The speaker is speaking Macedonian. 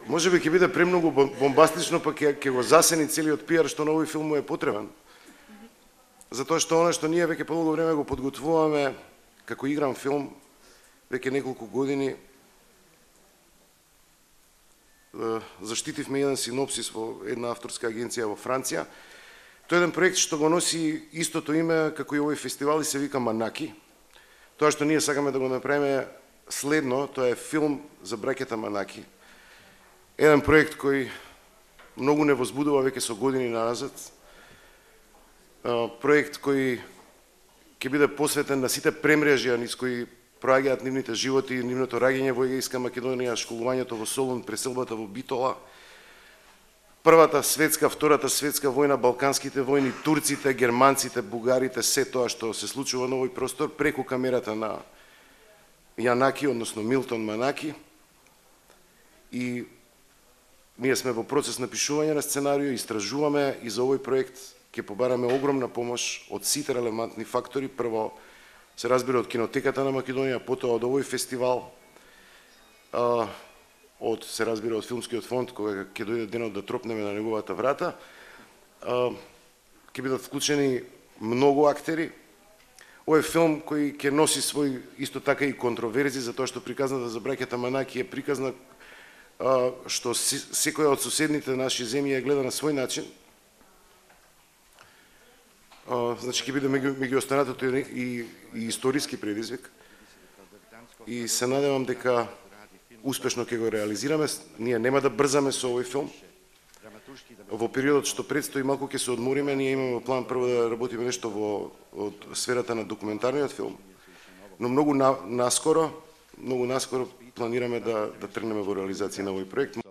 можеби ќе биде премногу бомбастично, па ќе го засени целиот пиар што на овој филм му е потребен. Затоа што оно што ние веќе подолго време го подготвуваме како игран филм, веќе неколку години, заштитивме еден синопсис во една авторска агенција во Франција. Тој е еден проект што го носи истото име како и овој фестивал и се вика Манаки. Тоа што ние сакаме да го направиме следно, тоа е филм за браќата Манаки. Еден проект кој многу не возбудува веќе со години назад. Проект кој ќе биде посветен на сите премрежја низ кои проаѓаат нивните животи, нивното раѓање во Егејска Македонија, школувањето во Солун, преселбата во Битола, Првата светска, Втората светска војна, Балканските војни, турците, германците, бугарите, се тоа што се случува на овој простор преку камерата на Јанаки, односно Милтон Манаки. И ние сме во процес на пишување на сценарио, истражуваме и за овој проект ќе побараме огромна помош од сите релевантни фактори. Прво, се разбира од Кинотеката на Македонија, потоа од овој фестивал, се разбира од Филмскиот фонд, кога ќе дојде денот да тропнеме на неговата врата. Ќе бидат вклучени многу актери. Овој филм кој ќе носи свој исто така и контроверзи, затоа што приказната за браќата Манаки е приказна што секоја од соседните наши земји ја гледа на свој начин. Значи ќе биде меѓу останатото и историски предизвик. И се надевам дека успешно ќе го реализираме. Ние нема да брзаме со овој филм. Во периодот што предстои малку ќе се одмориме, ние имаме план прво да работиме нешто од сферата на документарниот филм, но многу наскоро планираме да тргнеме во реализација на овој проект.